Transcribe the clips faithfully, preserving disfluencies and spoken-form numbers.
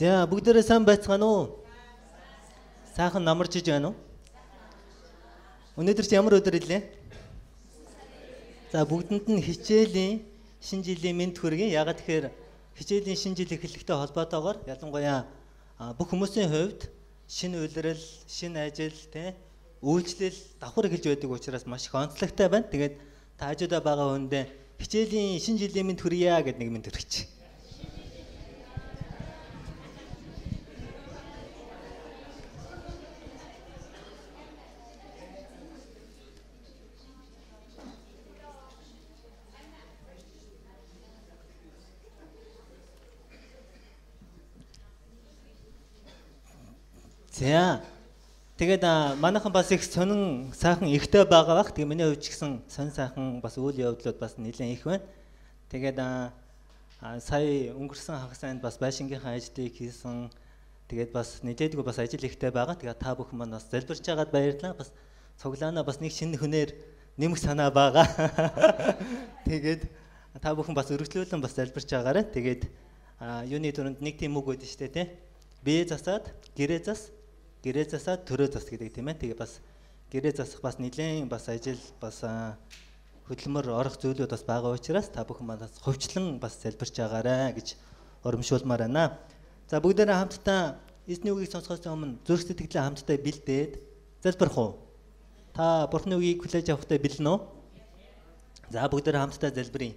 За бүгдээрээ сайн байцгаана уу? Сайхан намарч иж байна уу? Өнөөдөр чи ямар өдөр илээ? За бүгдэнд нь хичээлийн шинэ жилийн мэнд хүргэе. Ягаад тэгэхээр хичээлийн шинэ жил эхлэхтэй холбоотойгоор ялангуяа бүх хүмүүсийн хувьд шинэ үйлрэл, шинэ ажил, тэ үйлчлэл давхар эхэлж байдаг учраас маш их онцлогтой байна. Тэгээд та хажуудаа байгаа хүндээ хичээлийн шинэ жилийн мэнд хүргье гэдэг нэг мэнд хүргэж. За тэгээд манайхан бас их сонин сайхан ихтэй байгаа бах. Тэгээ миний хувьд ч гэсэн сонин сайхан бас үйл явдлууд бас нэлээд их байна. Тэгээд сая өнгөрсөн хагас анд бас байшингийнхаа ажлыг хийсэн. Тэгээд бас нэлээдгүй бас ажил ихтэй байгаа. Тэгээд та бүхэн маань бас залбирч байгаад баярлалаа. Бас цуглаанаа бас нэг шинэ хүнээр нэмэх санаа байгаа. Тэгээд та бүхэн бас өргөжлүүлэн бас залбирч байгаарай. Тэгээд юуны түрүүнд нэг тийм үг өгдөө штэ тий. Бие засаад гэрээ зас гэрээ засаад төрөө зас гэдэг тийм ээ. Тэгээ бас гэрээ засах бас нэлээд бас ажил бас хөдөлмөр орох зүйлүүд бас байгаа учраас та бүхэн манаас хувьчлан бас залбирч байгаарай гэж урамшуулмаар байна. За бүгдээрээ хамтдаа эзний үгийг сонсохоос өмнө зүрх сэтгэлээ хамтдаа бэлдээд залбирх уу? Та Бурхны үгийг хүлээж авахтай бэлэн үү? За бүгдээрээ хамтдаа залбирая.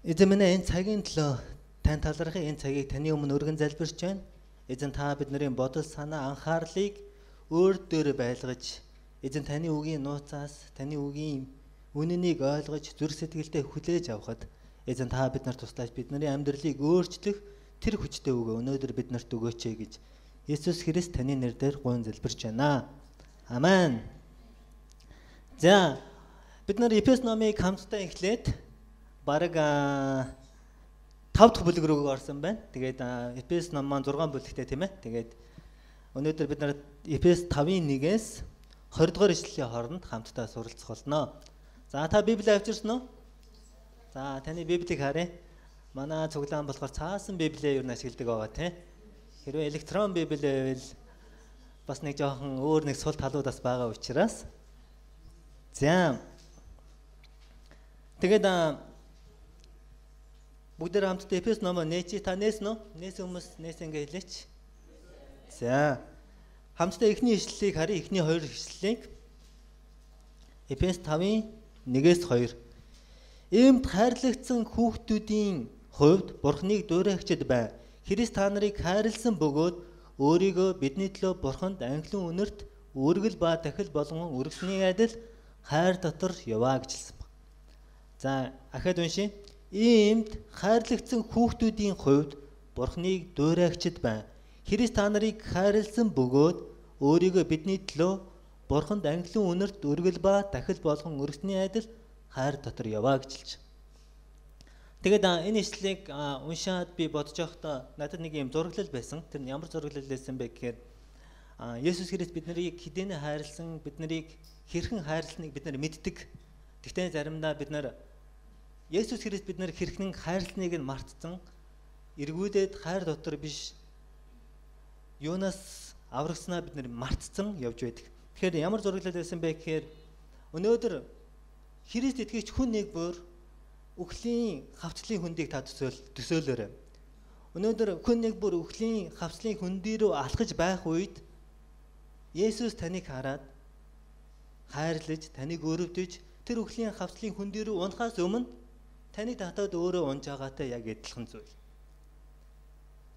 Эзэн минь энэ цагийн төлөө тань талархах, энэ цагийг таны өмнө өргөн залбирч байна. Эзэн та бидний бодол санаа анхаарлыг өөр дөр байлгаж, эзэн таны үгийн нууцаас, таны үгийн үнэнийг ойлгож, зүрх сэтгэлдээ хүлээж авахад эзэн та биднэрт туслаач, бидний амьдралыг өөрчлөх тэр хүчтэй үгээ өнөөдөр биднэрт өгөөч гэж Есүс Христ таны нэрээр гуйн залбирч байна. Амен. За бид нар Эфес номыг хамтдаа эхлээд бараг тав дахь бүлэг рүү орсон байна. Тэгээд Эфес ном маань зургаан бүлэгтэй тийм ээ. Тэгээд өнөөдөр бид нар Эфес тавын нэгээс двадцать дугаар ишлэлийн хооронд хамтдаа суралцах болно. За та Библийг авчирсан уу? За таны Библийг харъя. Манай цуглаан болохоор цаасан Библийг юу н ашигладаг байгаа тийм. Хэрвээ электрон Библи байвал бас нэг жоохон өөр нэг сул талуудаас байгаа учраас. За тэгээд бүгдээр хамтдаа Эфес номоо нээчи. Та нээсэн үү? Нээсэн хүмүүс нээсэн ингээ хэлээч. За. Хамтдаа эхний ишлэлийг харъя. Эхний хоёр ишлэлийг. Эфес тавын нэгээс хоёр. Иймд хайрлагдсан хүүхдүүдийн хувьд Бурхныг дуурайгчд бай. Христ та нарыг хайрлсан бөгөөд өөрийгөө бидний төлөө Бурханд анхлын үнэрт үргэл ба дахил болгон өргөсний адил хайр дотор яваа гэж хэлсэн баг. За, ахад уншия. Иймд хайрлагдсан хүүхдүүдийн хувьд Бурхныг дуурайгчд бай. Христ та нарыг хайрлсан бөгөөд өөрийгөө бидний төлөө Бурханд анхлын үнэрт үргэл ба дахил болгон өргөсний адил хайр дотор яваа гэж хэлж. Тэгээд энэ ишлэлийг уншаад би бодож байхдаа надад нэг юм зураглал байсан. Тэр нь ямар зураглал байсан бэ гэхээр Есүс Христ биднийг хэдийнэ хайрлсан, биднийг хэрхэн хайрлсныг бид нар мэддэг. Гэхдээ заримдаа бид нар Есүс Христ бид нар хэрхэн хайрлсныг нь мартсан, эргүүлээд хайр дотор биш юунаас аврагснаа бид нар мартсан явж байдаг. Тэгэхээр ямар зураглал байсан бэ гэхээр өнөөдөр Христ итгэгч хүн нэг бүр үхлийн хавцлын хөндийг та төсөөлөөрэй. Өнөөдөр хүн нэг бүр үхлийн хавцлын хөндий рүү алхаж байх үед Есүс таныг хараад хайрлаж, таныг өрөвдөж тэр үхлийн хавцлын хөндий рүү унахаас өмнө таны татаад өөрөө унж байгаатай яг адилхан зүйл.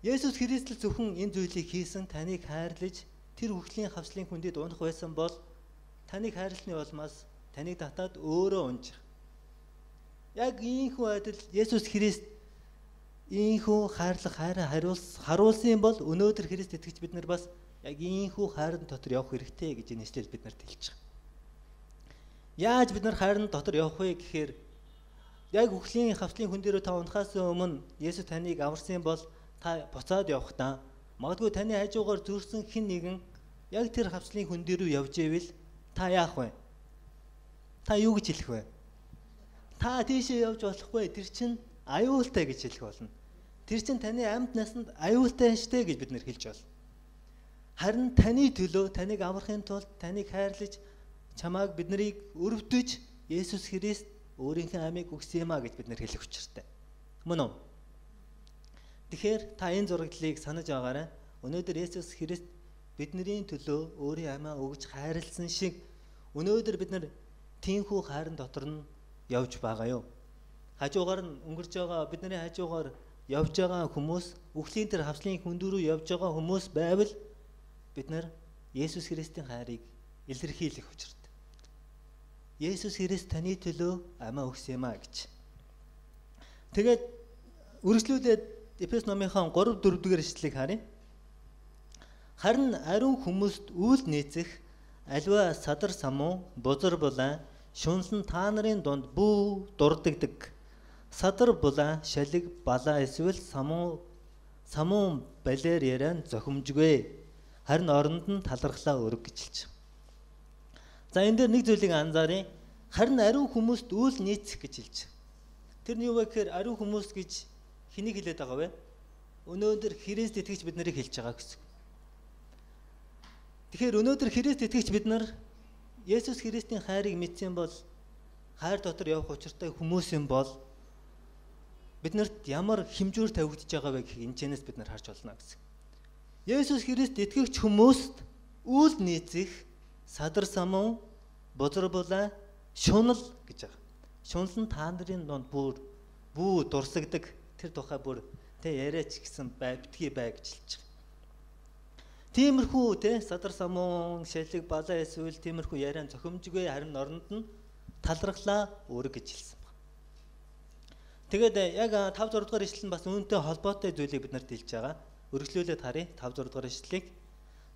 Есүс Христ л зөвхөн энэ зүйлийг хийсэн, таныг хайрлаж тэр үхлийн хавцлын хүндийд унах байсан бол таныг хайрлсны улмаас таныг татаад өөрөө унж. Яг ийхүү адил Есүс Христ ийхүү хайрлах хайраа хариулс харуулсан бол өнөөдөр Христ итгэж бид нар бас яг ийхүү хайрын дотор явах хэрэгтэй гэж энэ ишлэл биднэрт хэлж байгаа. Яаж бид нар хайрын дотор явах вэ гэхээр яг үхлийн хавцлын хүн дээрөө та унахаас өмнө Есүс таныг аварсан бол та буцаад явахдаа магадгүй таны хажуугаар зүрсэн хэн нэгэн яг тэр хавцлын хүн дээрөө явж ивэл та яах вэ? Та юу гэж хэлэх вэ? Та тийшээ явж болохгүй, тэр чинь аюултай гэж хэлэх болно. Тэр чинь таны амьд насанд аюултай штэ гэж бид нэр хэлж байна. Харин таны төлөө таныг аврахын тулд таныг хайрлаж чамааг биднийг өрөвдөж Есүс Христ өөрийнхөө амийг өгсөн юм а гэж бид нэр хэлэх учиртай. Мөн үү? Тэгэхээр та энэ зураглалыг санаж байгаарай. Өнөөдөр Есүс Христ бидний төлөө өөрийн амиа өгж хайрлсан шиг өнөөдөр бид нар тийхүү хайрын дотор нь явж байгаа юу? Хажуугаар нь өнгөрч байгаа бидний хажуугаар явж байгаа хүмүүс, үхлийн тэр хавслын хүндүрүү явж байгаа хүмүүс байвал бид нар Есүс Христийн хайрыг илэрхийлэх учиртай. Есүс Христ таны төлөө амиа өгсөн юм а гэж. Тэгээд үргэлжлүүлээд Эфес номынхон три дөрөв дэх эшлэлийг харъя. Харин ариун хүмүүст үйл нийцэх аливаа садар самуу, бузар булаа, шунсан та нарын дунд бүү дурддагдаг. Садар булаа, шалиг, балаа эсвэл самуу самуун балер яран зохимжгүй. Харин оронд нь талархлаа өрг гэж хэлж байна. За энэ дээр нэг зүйлийг анзааръя. Харин ариун хүмүүст үйл нийцэх гэж хэлж байна. Тэр нь юу вэ гэхээр ариун хүмүүс гэж хэнийг хэлээд байгаа вэ? Өнөөдөр Христ итгэж бид нарыг хэлж байгаа гэсэн. Тэгэхээр өнөөдөр Христ итгэж бид нар Есүс Христийн хайрыг мэдсэн бол хайр дотор явах учиртай хүмүүс юм бол биднэрт ямар хэмжүүр тавигдж байгаа вэ гэх энэчнээс бид нар харж болно гэсэн. Есүс Христ итгэгч хүмүүст үйл нийцэх садар самуу, бузар булаа, шунал гэж байгаа. Шунал нь та нарын донд бүр бүү дурсагдаг тэр тухай бүр тэ яриач гэсэн бай битгий бай гэж хэлж байгаа. Тиймэрхүү тэ садар самуун, шалиг, балаа эсвэл тиймэрхүү яриан зохимжгүй харин оронд нь талархлаа өрг гэж хэлсэн байна. Тэгээд яг five six дугаар ишлэл нь бас үүнтэй холбоотой зүйлийг бид нарт хэлж байгаа. Өргөжлүүлээд харъя five six дугаар ишлэлийг.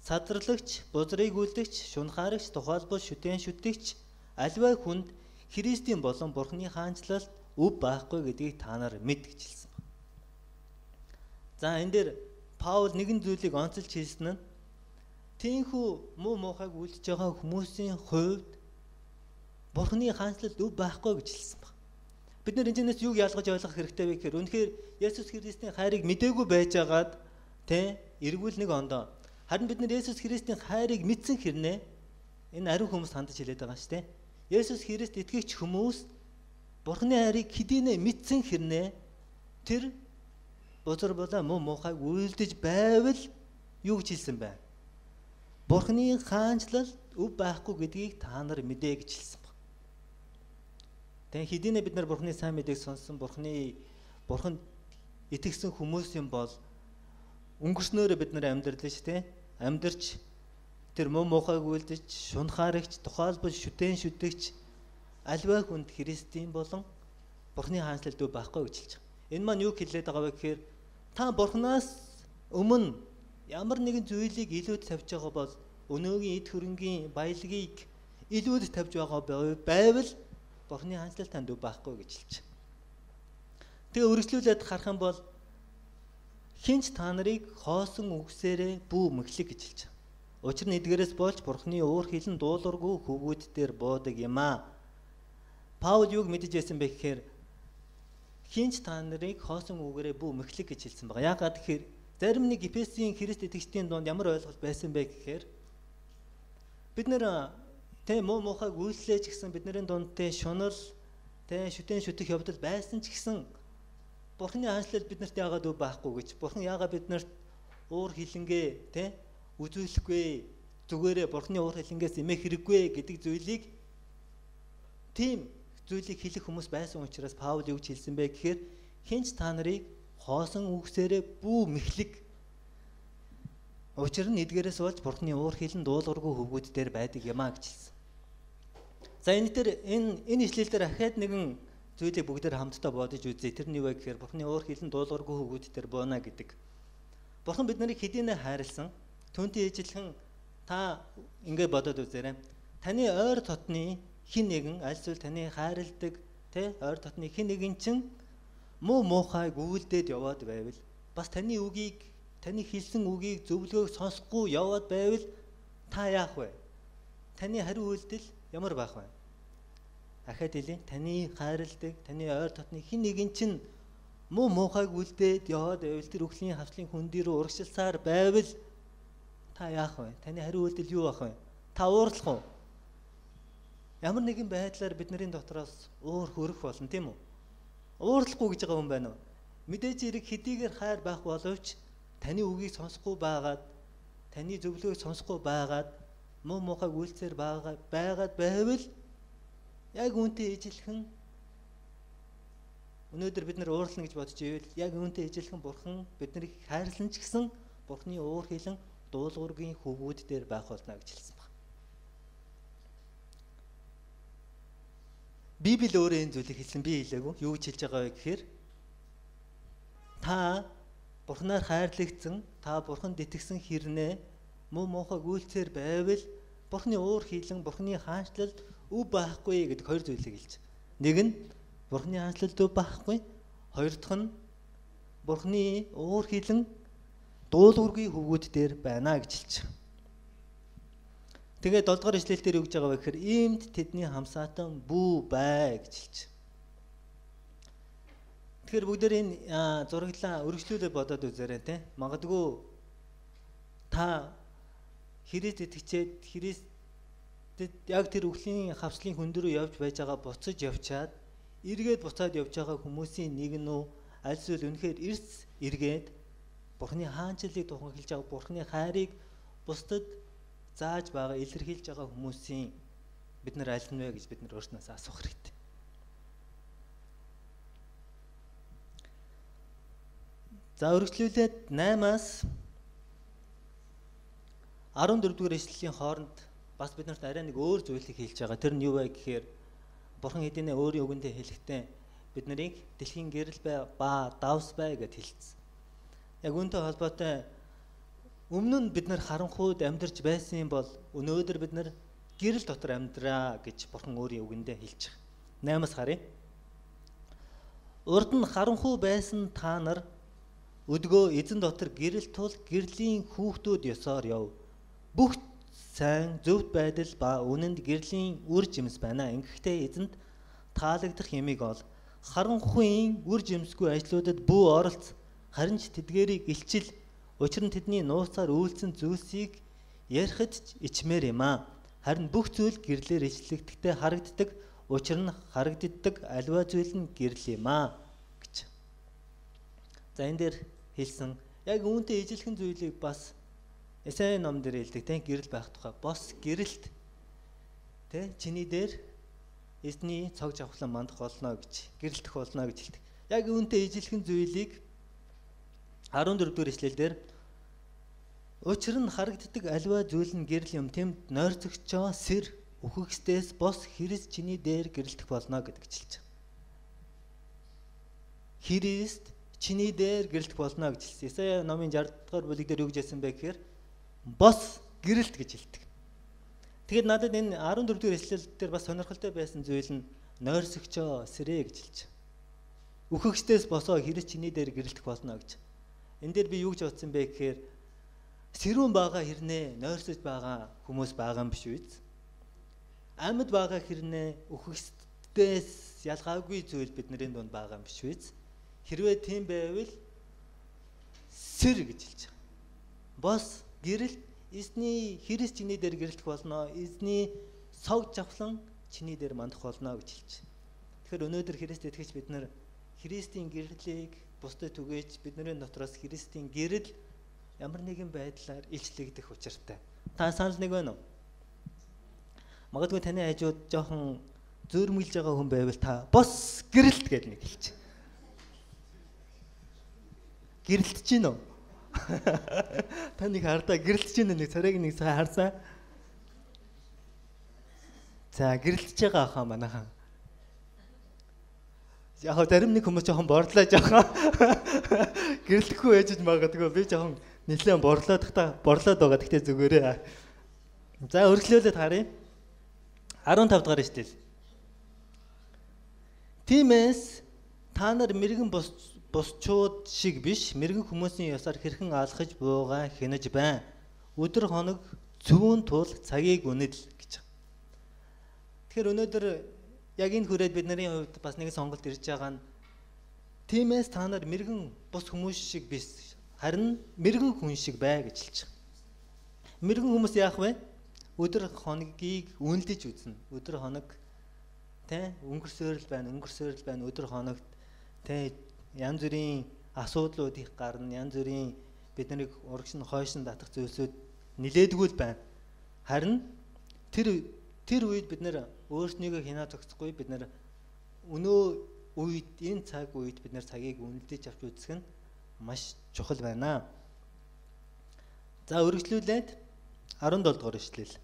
Садарлагч, бузрыг үлдэгч, шунхаарагч, тухайлбал шүтэн шүтгч аливаа хүнд Христийн болон Бурхны хаанчлалд өв байхгүй гэдгийг та нар мэд гэж хэлсэн байна. За энэ дээр Паул нэгэн зүйлийг онцолж хэлсэн нь тийхүү муу муухайг үлдэж байгаа хүмүүсийн хувьд Бурхны хаанчлалд өв байхгүй гэж хэлсэн байна. Бид нар энэчнээс юуг ялгаж ойлгох хэрэгтэй вэ гэхээр үнэхээр Есүс Христийн хайрыг мдээгүй байжгаад тэ эргүүл нэг ондоо харин бид нар Есүс Христийн хайрыг мэдсэн хэрнээ энэ ариун хүмүүс хандаж хэлээд байгаа шүү дээ. Есүс Христ итгэгч хүмүүс Бурхны хайрыг хэдийнэ мэдсэн хэрнээ тэр бузар булаа муу муухайг үйлдэж байвал юу гэж хэлсэн бэ? Бурхны хаанчлал өв байхгүй гэдгийг та нар мэдээ гэж хэлсэн баг. Тэгэн хэдийнэ бид нар Бурхны сайн мэдээг сонссон Бурхны Бурханд итгэсэн хүмүүс юм бол өнгөрснөөрөө бид нар амьдрал шүү дээ. Амьдарч тэр муу муухайг үйлдэж, шунхаарагч, тухайлбал шүтэн шүтгч аливаа хүнд Христийн болон Бурхны хаанчлалд өв байхгүй гэж хэлж байгаа. Энэ маань юу хэлээд байгаа вэ гэхээр та Бурханаас өмнө ямар нэгэн зүйлийг илүүд тавьж байгаа бол өнөөгийн эд хөрөнгийн баялагийг илүүд тавьж байгаа байвал Бурхны хаанчлал танд өв байхгүй гэж хэлж байгаа. Тэгээ үргэлжлүүлээд харах юм бол хинч та нарыг хоосон үгсээрээ бүү мэхлэг гэж хэлж байгаа. Учир нь эдгээрээс болж Бурхны уур хилэн дуулуургүй хөвгүүд дээр буудаг юм аа. Паул юуг мэдэж байсан бэ гэхээр хинч та нарыг хоосон үгээрээ бүү мэхлэг гэж хэлсэн байгаа. Яагаад гэхээр зарим нэг Эфесийн Христ итгэгчдийн донд ямар ойлголт байсан бэ гэхээр бид нэр тэ муу муухайг үйлслэж гэсэн бидний донд тэ шунал тэ шүтэн шүтэх явдал байсан ч гэсэн Бурхны хаанчлал биднэрт яагаад өв байхгүй гэж Бурхан яагаад биднэрт уур хилэнгээ тэ үзүүлэхгүй зүгээрээ Бурхны уур хилэнгээс эмээх хэрэггүй гэдэг зүйлийг тийм зүйлийг хэлэх хүмүүс байсан учраас Паул юу гэж хэлсэн бэ гэхээр хинч та нарыг хоосон үгсээрээ бүү мэхлэг учир нь эдгээрээс болж Бурхны уур хилэн дуулуургүй хөвгүүд дээр байдаг юм а гэж хэлсэн. За энэ дээр энэ энэ ишлэл дээр ахаад нэгэн зүйлийг бүгдээр хамтдаа бодож үзье. Тэр нь юу вэ гэхээр Бурхны уур хилэн дуулуургүй хөвгүүд дээр бууна гэдэг. Бурхан бид нарыг хэдийнэ хайрлсан. Түүнтэй ижилхэн та ингэ бодоод үзээрэй. Таны ойр дотны хин нэгэн альсвал таны хайрладаг тэ ойр дотны хин нэгэн чинь муу муухайг үйлдээд яваад байвал бас таны үгийг таны хэлсэн үгийг зөвлөгөөг сонсохгүй яваад байвал та яах вэ? Таны хариу үйлдэл ямар байх вэ? Ахаад хэлээ. Таны хайрладаг, таны ойр дотны хин нэгэн чинь муу муухайг үлдээд яваад байвал тэр үхлийн хавцлын хүндий рүү урагшилсаар байвал та яах вэ? Таны хариу үйлдэл юу ах вэ? Та уурлах уу? Ямар нэгэн байдлаар бидний дотроос уур хөрөх болно тийм үү? Уурлахгүй гэж байгаа хүн байна уу? Мэдээж хэрэг хэдийгээр хайр байх боловч таны үгийг сонсохгүй байгаад, таны зөвлөгөөг сонсохгүй байгаад, муу муухайг үйлцээр байгаад байгаад байвал яг үүнтэй ижилхэн өнөөдөр бид нар уурлана гэж бодож ивэл яг үүнтэй ижилхэн бурхан биднийг хайрлан ч гэсэн бурханы уур хилэн дуулуургийн хөвгүүд дээр байх болно гэж хэлсэн байна. Библи өөрөө энэ зүйлийг хэлсэн, би хэлээгүй. Юу гэж хэлж байгаа вэ гэхээр та бурханаар хайрлагдсан, та бурханд итгэсэн хэрнээ муу муухайг үйлцээр байвал бурханы уур хилэн, бурханы хаанчлал өв байхгүй гэдэг хоёр зүйлийг хэлж. Нэг нь бурханы хаанчлал өв байхгүй, хоёр дахь нь бурханы уур хилэн дуулуургийн хөвгүүд дээр байна гэж хэлж. Тэгээд долдугаар ишлэл дээр юу гэж байгаа вэ гэхээр иймд тэдний хамсаатан бүү бай гэж хэлж. Тэгэхээр бүгдээр энэ зураглаа өргөжлүүлээ бодоод үзээрэй те. Магадгүй та Христ итгэжээд Христэд яг тэр үхлийн хавцлын хүнд рүү явж байж байгаа буцаж явчаад эргээд буцаад явж байгаа хүмүүсийн нэг нь үү аль зүйл үнэхээр эрс эргээд Бурхны хаанчлалыг тухайлж байгаа Бурхны хайрыг бусдад зааж байгаа илэрхийлж байгаа хүмүүсийн бид нар аль нь вэ гэж бид нар өөрснөөс асуух хэрэгтэй. За өргөжлүүлээд наймаас арван дөрөвдүгээр ишлэлийн хооронд бас бид нарт арай нэг өөр зүйлийг хэлж байгаа. Тэр нь юу вэ гэхээр Бурхан хэдийнэ өөрийн үгэндээ хэлэхдээ бид нарыг дэлхийн гэрэл бай ба давс бай гэж хэлсэн. Яг үүнтэй холбоотой өмнө нь бид нар харанхуйд амьдарч байсан бол өнөөдөр бид нар гэрэл дотор амьдраа гэж Бурхан өөрийн үгэндээ хэлж байгаа. наймаас харъя. Урд нь харанхуй байсан та нар өдгөө эзэн дотор гэрэл тул гэрлийн хүүхдүүд ёсоор яв. Бүх сайн зөвхт байдал ба үнэнд гэрлийн үр жимс байна. Ингэхдээ эзэнд таалагдах ямиг ол. Харанхуйн үр жимсгүй ажлуудад бүү оролц. Харин ч тэдгээрийг илчил. Учир нь тэдний нууцаар үйлцэн зүйлсийг ярихад ч ичмээр юм аа. Харин бүх зүйл гэрлээр ичлэгдэхдээ харагддаг. Учир нь харагддаг аливаа зүйл нь гэрэл юм аа гэж. За энэ дээр хэлсэн яг үүнтэй ижилхэн зүйлийг бас Эсай ном дээр хэлдэг тийм гэрэл байх тухай. Бос гэрэлт тийм чиний дээр эзний цог жавхлан мандах болно гэж гэрэлтэх болно гэж хэлдэг. Яг үүнтэй ижилхэн зүйлийг арван дөрөвдүгээр ишлэлдэр учир нь харагддаг аливаа зүйл нь гэрэл юм. Тэмд нойрцогчоо сэр үхэгсдээс бос Христ чиний дээр гэрэлтэх болно гэдэг хэлж байгаа. Христ чиний дээр гэрэлтэх болно гэж хэлсэн. Исая номын шестдугаар бүлэг дээр юу гэж хэлсэн бэ гэхээр бос гэрэлт гэж хэлдэг. Тэгэд надад энэ арван дөрөвдүгээр ишлэл дээр бас сонирхолтой байсан зүйл нь нойрсогчоо сэрээ гэж хэлж байгаа. Үхэгсдээс босоо Христ чиний дээр гэрэлтэх болно гэж. Энэ дээр би юу гэж бодсон бэ гэхээр сэрүүн байгаа хэрнээ нойрсож байгаа хүмүүс байгаа юм биш үү? Амьд байгаа хэрнээ үхэгсдээс ялгаагүй зүйл бидний дунд байгаа юм биш үү? Хэрвээ тийм байвал сэр гэж хэлж байгаа. Бос гэрэл эзний Христ чиний дээр гэрэлтэх болно. Эзний цог жавхлан чиний дээр мандах болно гэж хэлж байна. Тэгэхээр өнөөдөр Христ итгэж бид нар Христийн гэрлийг бусдад түгээж бидний дотроос Христийн гэрэл ямар нэгэн байдлаар илчлэгдэх учиртай. Та санал нэг байна уу? Магадгүй таны хажууд жоохон зөөрмөлж байгаа хүн байвал та бос гэрэлт гэж нэг хэлж. Гэрэлтэж гин үү? Та нэг хардаа гэрэлтэж гин нэг царайг нэг сая харсан. За гэрэлтэж байгаа хаа манайхан. Яг зарим нэг хүмүүс жоохон борлоо жоохон гэрэлтэхгүй байж магадгүй би жоохон нэлээд борлоод та борлоод байгаа гэхдээ зүгээрээ. За өргөлөөлөд харъя. арван тав дахь ишлэл. Тиймээс та нар мэрэгэн бус бусчууд шиг биш мэрэгэн хүмүүсийн ёсоор хэрхэн алхаж буугаа хянаж байна. Өдөр хоног зүүн тул цагийг үнэл гэж. Тэгэхээр өнөөдөр яг энэ хүрээд бидний хувьд бас нэг сонголт ирж байгаа нь Тиймээс та нар мэрэгэн бус хүмүүс шиг биш, харин мэрэгэн хүн шиг бай гэж хэлж байгаа. Мэрэгэн хүмүүс яах вэ? Өдөр хоногийг үнэлж үзнэ. Өдөр хоног тэ өнгөрсөөр л байна, өнгөрсөөр л байна. Өдөр хоногт тэ янз бүрийн асуудлууд их гарна, янз бүрийн биднийг урагш нь хойш нь татах зүйлсүүд нилээдгүй л байна. Харин тэр тэр үед бид нэр өөрснийгөө хинаа зогсохгүй, бид нэр өнөө үед энэ цаг үед бид нэр цагийг үнэлж авч үзэх нь маш чухал байна. За үргэлжлүүлээд арван долоо дугаар ишлэл.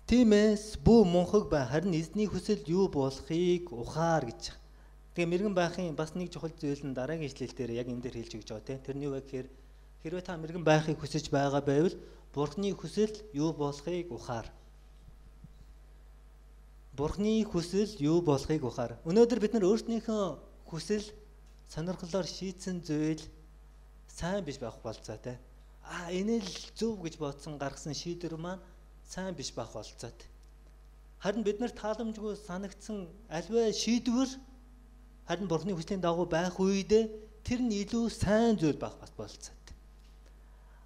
Тиймээс бүү мунхаг бай, харин эзний хүсэл юу болохыг ухаар гэж. Тэгээ мэрэгэн байхын бас нэг чухал зүйл нь дараагийн ишлэл дээр яг энэ дээр хэлж өгч байгаа тийм. Тэрний үг гэхээр хэрвээ та мэрэгэн байхыг хүсэж байгаа байвал Бурхны хүсэл юу болохыг ухаар. Бурхны хүсэл юу болохыг ухаар. Өнөөдөр бид нар өөрсдийнхөө хүсэл сонирхлоор шийдсэн зүйл сайн биш байх болцоо тийм. А энэ л зөв гэж бодсон гаргасан шийдвэр маань сайн биш байх болцоо. Харин бид нар тааламжгүй санагдсан альва шийдвэр харин Бурхны хүслийн дагуу байх үедээ тэр нь илүү сайн зүйл байх болцоо.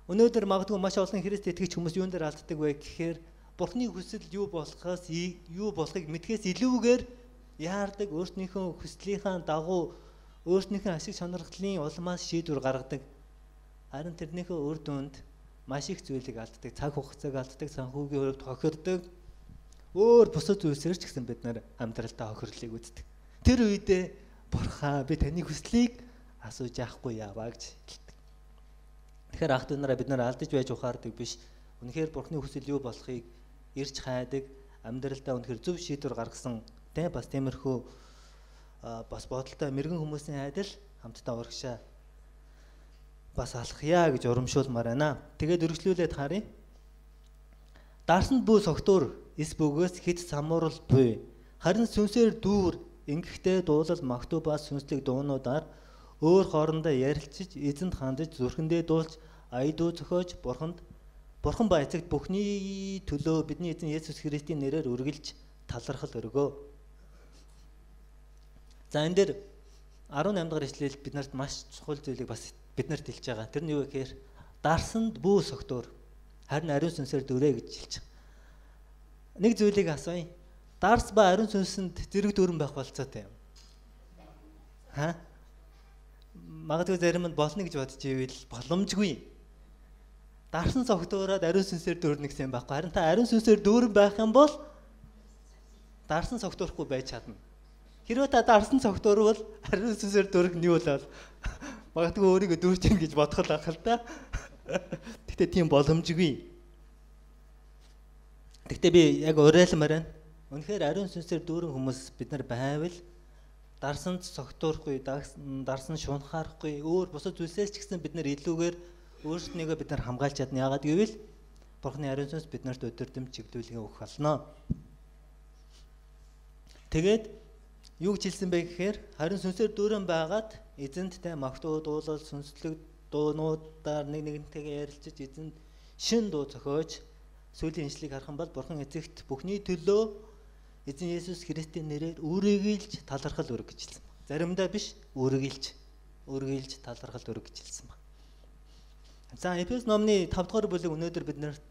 Өнөөдөр магадгүй маш олон Христ итгэгч хүмүүс юун дээр алддаг вэ гэхээр Бурхны хүсэл юу болохоос юу болохыг мэдхээс илүүгээр яардаг, өөрснийхөө хүслийнхаа дагуу өөрснийхөө ашиг сонирхлын улмаас шийдвэр гаргадаг. Харин тэрнийхээ үр дүнд маш их зүйлийг алддаг, цаг хугацааг алддаг, санхүүгийн хувьд хохирдог. Өөр бусад зүйлсээр ч гэсэн бид нар амьдралдаа хохирлыг үздэг. Тэр үедээ Бурхан би таны хүслийг асууж яахгүй яваа гэж хэлдэг. Тэгэхээр ах дүү нараа бид нар алдаж байж ухаардаг биш. Үнэхээр Бурхны хүсэл юу болохыг ирж хайдаг, амьдралдаа үнэхээр зөв шийдвэр гаргасан тэ бас тиймэрхүү бас бодолтой мэрэгэн хүмүүсийн айдал хамтдаа урагшаа бас алхъя гэж урамшуулмаар байна. Тэгээд үргэлжлүүлээд харъя. Дарсанд бүү согтуур эс бөгөөс хит самуурал буй. Харин сүнсээр дүүр ингэхдээ дуулал магтуу ба сүнслэг дуунуудаар өөр хоорондоо ярилцж, эзэнд хандаж, зүрхэндээ дуулж, аядуу зохиож, бурханд бурхан ба эцэгт бүхний төлөө бидний эзэн Есүс Христийн нэрээр үргэлж талархал өргөө. За энэ дээр арван аймд дахь ишлэл биднэрт маш чухал зүйлийг бас биднэрт хэлж байгаа. Тэр нь юу вэ гэхээр дарсанд бүү согтуур харин ариун сүнсээр дүрээ гэж хэлж байгаа. Нэг зүйлийг асууя. Дарс ба ариун сүнсэнд зэрэг дүүрэн байх болцоотой юм. Ха? Магадгүй зарим нь болно гэж бодож ивэл боломжгүй. Дарсан согтуураад ариун сүнсээр дүүрнэ гэсэн юм байхгүй. Харин та ариун сүнсээр дүүрэн байх юм бол дарсан согтуурахгүй байж чадна. Хэрвээ та дарсан согтуурвал ариун сүнсээр дүүрэх нь юу бол магадгүй өөрийгөө дүүрч ин гэж бодох л ах л да. Гэтэ тийм боломжгүй. Гэтэ би яг уриалмаар байна. Үнэхээр ариун сүнсээр дүүрэн хүмүүс бид нар байвал дарсанд согтуурахгүй, дарсан шунхаарахгүй, өөр бусад зүйлсээс ч гэсэн бид нар илүүгээр өөрсдийгөө бид нар хамгаалж чадна. Яагаад гэвэл Бурхны ариун сүнс биднэрт өдөрдөм чиглүүлгээ өгөх болно. Тэгээд юу гэж хэлсэн бэ гэхээр харин сүнсээр дүүрэн байгаад эзэнттэй магтуу дуулал сүнслэг дуунуудаар нэг нэгнтэйгээ ярилцаж эзэнд шин дуу зохиож сүүлийн иншлийг харах юм бол Бурхан эцэгт бүхний төлөө эзэн Есүс Христийн нэрээр үргэлж талархал өрг гэж хэлсэн байна. Заримдаа биш, үргэлж үргэлж талархал өрг гэж хэлсэн байна. За Эфес номны тав дахь бүлэг өнөөдөр биднэрт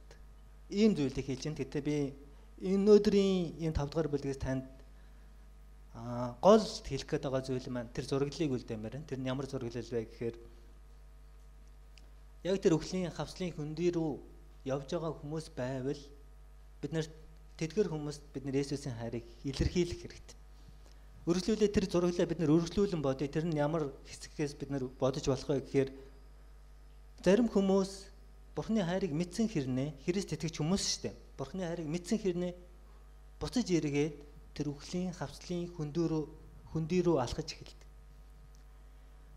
ийм зүйлийг хэлж байна. Гэтэ би энэ өдрийн энэ тав дахь бүлгээс танд аа гол хэлэх гээд байгаа зүйл маань тэр зураглалыг үлдээмээр байна. Тэр нь ямар зураглал вэ гэхээр яг тэр өхлийн хавцлын хөндөй рүү явж байгаа хүмүүс байвал бид нарт тэдгэр хүмүүст бид нар Есүсийн хайрыг илэрхийлэх хэрэгтэй. Үргэлжлүүлээ тэр зураглалаа бид нар үргэлжлүүлэн бодъё. Тэр нь ямар хэсгээс бид нар бодож болох вэ гэхээр зарим хүмүүс Бурхны хайрыг мэдсэн хэрнээ Христ итгэж хүмүүс шүү дээ. Бурхны хайрыг мэдсэн хэрнээ буцаж эргээд тэр өхлийн хавцлын хөндөй рүү хөндөй рүү алхаж эхэлдэг.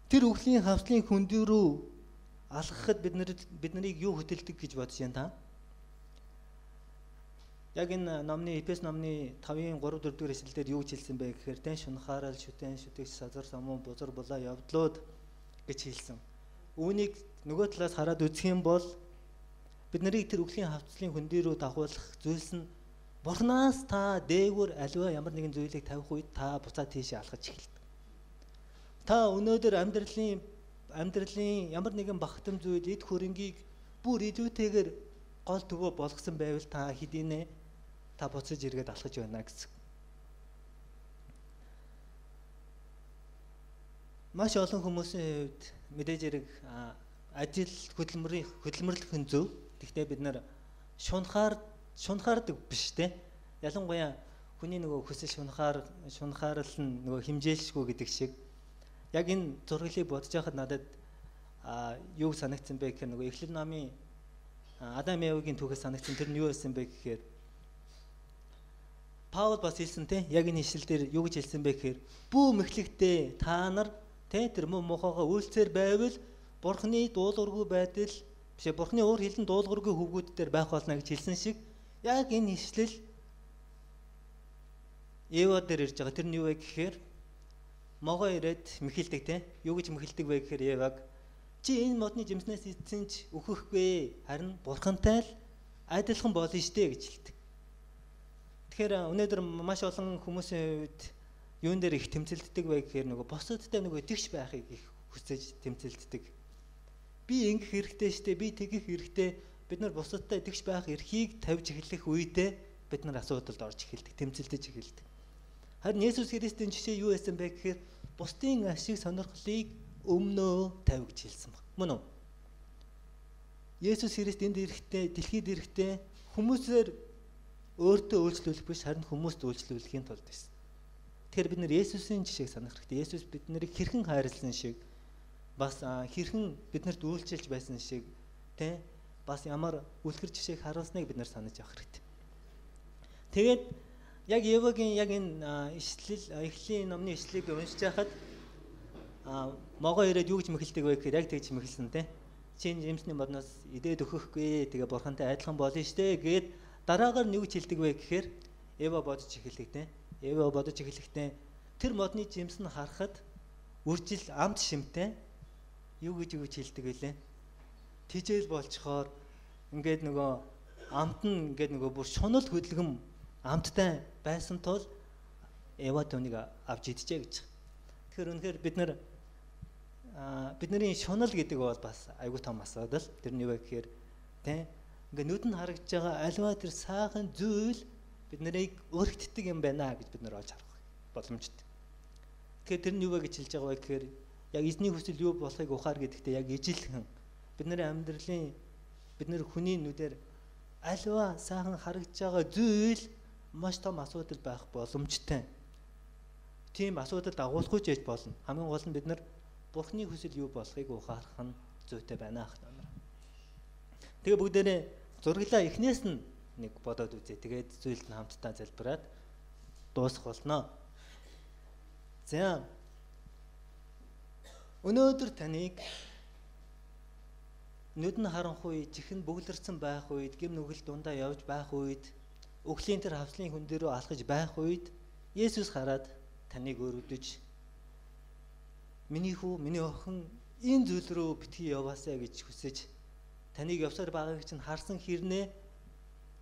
Тэр өхлийн хавцлын хөндөй рүү алхахад бид нар бид нарыг юу хөтэлдэг гэж бодож байна та? Яг энэ номны Эфес номны тавын гурав дөрөв дэх эшлэлээр юу гэж хэлсэн бэ гэхээр тэн шунхаарал шүтэн шүтэгч сазар самун бузар булаа явдлууд гэж хэлсэн. Үүнийг нөгөө талаас хараад үзэх юм бол бид нарыг тэр өхлийн хавцлын хөндөй рүү дагуулах зүйлс нь Бурханаас та дээгүүр аливаа ямар нэгэн зүйлийг тавих үед та буцаад тийшээ алхаж эхэлдэг. Та өнөөдөр амьдралын амьдралын ямар нэгэн багтам зүйл, эд хөрөнгийг бүр илүүтэйгээр гол төвөө болгосон байвал та хэдийнэ та буцаж иргээд алхаж байна гэсэн. Маш олон хүмүүсийн хувьд мэдээж хэрэг ажил хөдөлмөрийн хөдөлмөрлөх нь зөв. Гэхдээ бид нар шунхаар шунхаардаг биш те. Ялангуяа хүний нөгөө хүсэл шунхаар шунхаарл нь нөгөө химжээлшгүй гэдэг шиг. Яг энэ зурглыг бодож байхад надад а юу санагдсан бэ гэхээр нөгөө Эхлэл номын Адам Евагийн түүхээс санагдсан тэр нь юу байсан бэ гэхээр Паул бас хэлсэн те. Яг энэ ишлэл дээр юу гэж хэлсэн бэ гэхээр бүү мэхлэгтээ та нар тэ тэр муу мохоогоо үйлцээр байвал Бурхны дуулуургүй байдал бишээ Бурхны өөр хэлэн дуулуургүй хөвгүүд дээр байх болно гэж хэлсэн шиг яг энэ ишлэл Ева дээр ирж байгаа. Тэр нь юу вэ гэхээр могоо ирээд мэхэлдэг те. Юу гэж мэхэлдэг вэ гэхээр Еваг чи энэ модны жимснээс эзэн ч өөхөхгүй харин Бурхантай л адилхан болно штэ гэж хэлдэг. Тэгэхээр өнөөдөр маш олон хүмүүсийн хувьд юун дээр их тэмцэлддэг вэ гэхээр нөгөө босодтой нөгөө тэгш байхыг их хүсэж тэмцэлддэг. Би ингэх хэрэгтэй штэ, би тэгэх хэрэгтэй. Бид нар босодтой тэгш байх эрхийг тавьж эхлэх үедээ бид нар асуудалд орж эхэлдэг, тэмцэлдэж эхэлдэг. Харин Есүс Христийн жишээ юу байсан бэ гэхээр бусдын ашиг сонирхлыг өмнөө тавь гэж хэлсэн баг. Мөн үү? Есүс Христ энд ирэхдээ, дэлхийд ирэхдээ хүмүүсээр өөртөө үйлчлүүлэх биш, харин хүмүүст үйлчлүүлэхийн тулд байсан. Тэгэхээр бид нар Есүсийн жишээг санах хэрэгтэй. Есүс бид нарыг хэрхэн хайрлсан шиг, бас хэрхэн биднэрт үйлчилж байсан шиг, тэ бас ямар үлгэр жишээг харуулсныг бид нар санаж авах хэрэгтэй. Тэгээд яг Евагийн яг энэ ишлэл, Эхлэлийн номны ишлэлийг уншиж байхад могоо ирээд юу гэж мэхэлдэг вэ гэхээр яг тэгж мэхэлсэн тэ. Чин жимсний модноос идээд өгөхгүй, тэгээ Бурхантай адилхан болно штэ гээд дараагаар нь юу гэж хэлдэг вэ гэхээр Ева бодож эхэлдэг тэ. Ева бодож эхлэхдээ тэр модны жимс нь харахад үржил амт шимтэй юу гэж юу гэж хэлдэг байлээ. Тижэл болчхоор ингээд нөгөө амт нь ингээд нөгөө бүр шунал хөдөлгөм амттай байсан тул Ева түүнийг авч идэжээ гэж. Тэгэхээр үнэхээр бид нар бидний шунал гэдэг бол бас айгүй том асуудал. Тэр нь юу вэ гэхээр тэ ингээд нүдэнд харагдж байгаа альва тэр сайхан зүйл бид нарыг өргөддөг юм байна гэж бид нар олж харах боломжтой. Тэгэхээр тэр нь юу вэ гэж хэлж байгаа вэ гэхээр яг эзний хүсэл юу болохыг ухаар гэдэгтээ яг ижилхэн бидний амьдралын бид нар хүний нүдээр альва сайхан харагдж байгаа зүйл маш том асуудал байх боломжтой. Тийм асуудалд агуулахгүй ч яж болно. Хамгийн гол нь бид нар Бурхны хүсэл юу болохыг ухаарах нь зүйтэй байна ах намаа. Тэгээ бүгдээрээ зурглаа эхнээс нь нэг бодоод үзье. Тэгээд зүйлд нь хамтдаа залбираад дуусах болно. За. Өнөөдөр таныг нүдэн харанхуй, чихэн бүглэрсэн байх үед, гэм нүгэл дундаа явж байх үед, өглөлийн тэр хавцлын хүн дээрөө алхаж байх үед Есүс хараад таныг өрөвдөж миний хүү, миний охин энэ зүйл рүү битгий яваасаа гэж хүсэж таныг явсаар байгааг чинь харсан хэрнээ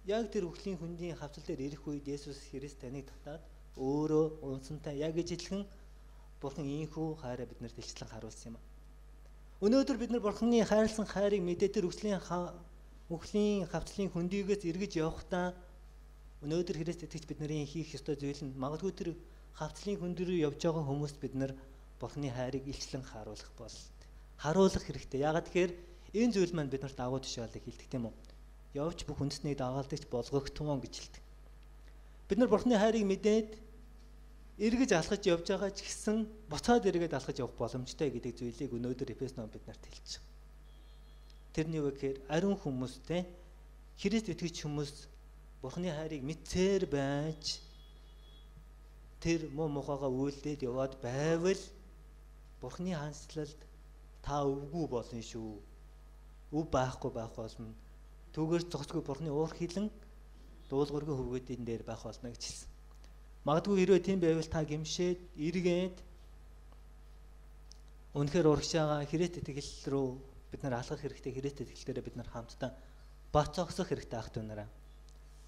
яг тэр өглөлийн хүндийн хавцал дээр ирэх үед Есүс Христ таныг татаад өөрөө унсантай яг ижилхэн Бурхан ийхүү хайраа биднэрт илчлэн харуулсан юм. Өнөөдөр бид нар Бурханы хайрлсан хайрыг мэдээ тэр өглөлийн өглөлийн хавцлын хөндийгээс эргэж явахдаа өнөөдөр Христ итгэж бидний хийх ёстой зүйл нь магадгүй тэр хавцлын хөнд рүү явж байгаа хүмүүст бид нар Бурханы хайрыг илчлэн харуулах бол харуулах хэрэгтэй. Яагаад тэгэхээр энэ зүйл маань биднэрт агуу тушаалыг хилдэг тийм үү? Явж бүх үндэснийг дагаалдагч болгогдтуун гэж хэлдэг. Бид нар Бурханы хайрыг мэдээд эргэж алхаж явж байгаа ч гэсэн буцаад эргээд алхаж явах боломжтой гэдэг зүйлийг өнөөдөр Эфес ном биднэрт хэлж байгаа. Тэрний үг гэхээр ариун хүмүүстэй Христ итгэж хүмүүс Бурханы хайрыг мэдсээр байж тэр муу мухагаа үйлдээд яваад байвал Бурханы хаанчлалд та өвгүй болно шүү. Өв байхгүй байх болно. Түүгээр зогсгүй Бурханы уур хилэн дуулуургүй хөвгүүдийн дээр байх болно гэж хэлсэн. Магадгүй хэрвээ тийм байвал та гимшээд эргээд үнэхээр урагш байгаа Христ итгэл рүү бид нар алхах хэрэгтэй. Христ итгэлээрээ бид нар хамтдаа бат зогсох хэрэгтэй ах дүүнараа.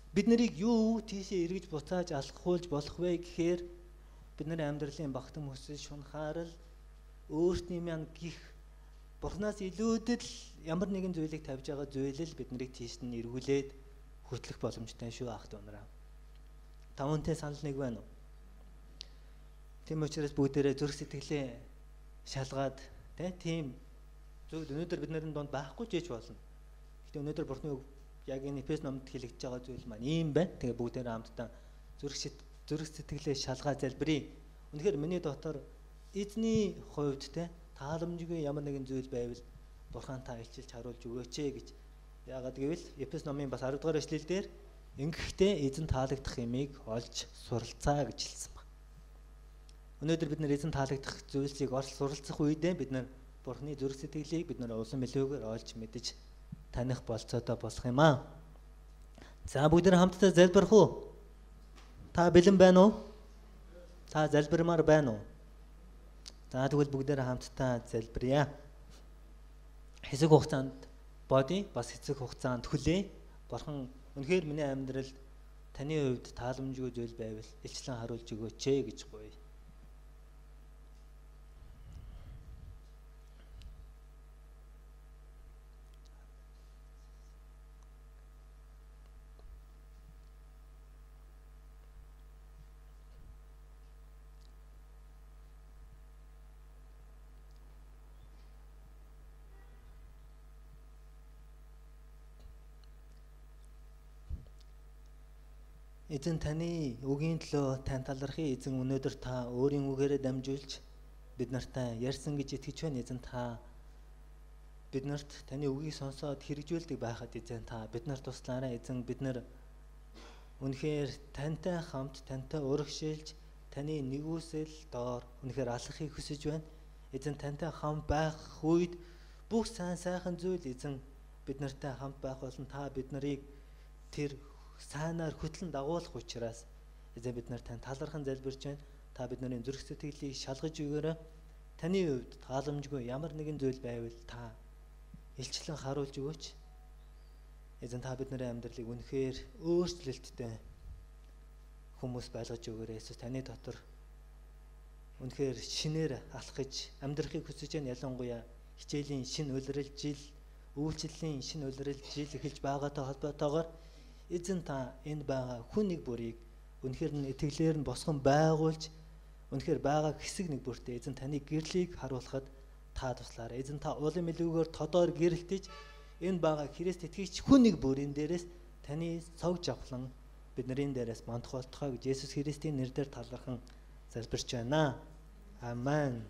Бид нарыг юу тийшээ эргэж буцааж алхахуулж болох вэ гэхээр бидний амьдралын багтан хүсэл шунхаарал өөртний маань гих Бурханаас илүүдэл ямар нэгэн зүйлийг тавьж байгаа зүйл л бид нарыг тийш нь эргүүлээд хөтлөх боломжтой шүү ахт унараа. Та үнтэй санал нэг байна уу? Тийм учраас бүгдээрээ зүрх сэтгэлээ шалгаад тийм зүйл өнөөдөр бид нарын донд байхгүй ч гэж болно. Гэхдээ өнөөдөр Бурхны үг яг энэ Эфес номд хэлэгдэж байгаа зүйл маань ийм байна. Тэгээ бүгдээрээ хамтдаа зүрх зүрх сэтгэлээ шалгаад залбирая. Үнэхээр миний дотор эзний хувьд те тааламжгүй ямар нэгэн зүйл байвал Бурхан та илчилж харуулж өгөөч ээ гэж. Яагаад гэвэл Эфес номын бас арав дахь эшлэл дээр ингэхдээ эзэн таалагдах юмыг олж суралцаа гэж хэлсэн байна. Өнөөдөр бид нэр эзэн таалагдах зүйлсийг олж суралцах үедээ бид нар Бурханы зүрх сэтгэлийг бид нар улам илүүгээр олж мэдэж таних болцоотой болох юм аа. За бүгд хамтдаа залбирх уу? Та бэлэн байна уу? Та залбирмаар байна уу? За тэгвэл бүгдээрээ хамтдаа залбирая. Хэсэг хугацаанд бодъё, бас хэсэг хугацаанд хүлээ. Бурхан үнэхээр миний амьдралд таны хувьд тааламжгүй зүйл байвал илчлэн харуулж өгөөч ээ гэж гуйя. Эзэн таны үгийн төлөө тань талархыг эзэн өнөөдөр та өөрийн үгээрээ дамжуулж бид нартай ярьсан гэж итгэж байна. Эзэн та биднэрт таны үгийг сонсоод хэрэгжүүлдэг байхад эзэн та бид нарт туслаарай. Эзэн бид нар үнэхээр тантай хамт тантай урагшилж таны нэгүсэл доор үнэхээр алхахыг хүсэж байна. Эзэн тантай хамт байх үед бүх сайн сайхан зүйл эзэн бид нартай хамт байх болон та бид нарыг тэр сайнаар хөтлөн дагуулах учраас эзэн бид нар тань талархан залбирч байна. Та бидний зүрх сэтгэлийг шалгаж өгөөрэй. Таны хувьд тааламжгүй ямар нэгэн зүйл байвал та илчлэн харуулж өгөөч. Эзэн та бидний амьдралыг үнэхээр өөрчлөлттэй хүмүүс байлгаж өгөөрэй. Есүс таны дотор үнэхээр шинээр алхаж амьдрахыг хүсэж байна. Ялангуяа хичээлийн шин улирал жил, үйлчлэлийн шин улирал жил эхэлж байгаатай холбоотойгоор эзэн та энд байгаа хүн нэг бүрийг үнэхээр нь итгэлээр нь босгон байгуулж үнэхээр байгаа хэсэг нэг бүртээ эзэн таны гэрлийг харуулхад та туслаарай. Эзэн та улам илүүгээр тодоор гэрэлтэж энд байгаа Христ итгэгч хүн нэг бүрийн дээрээс таны цог жавхлан бидний дээрээс мандах болтугай гэж Есүс Христийн нэрээр талархан залбирч байна. Амен.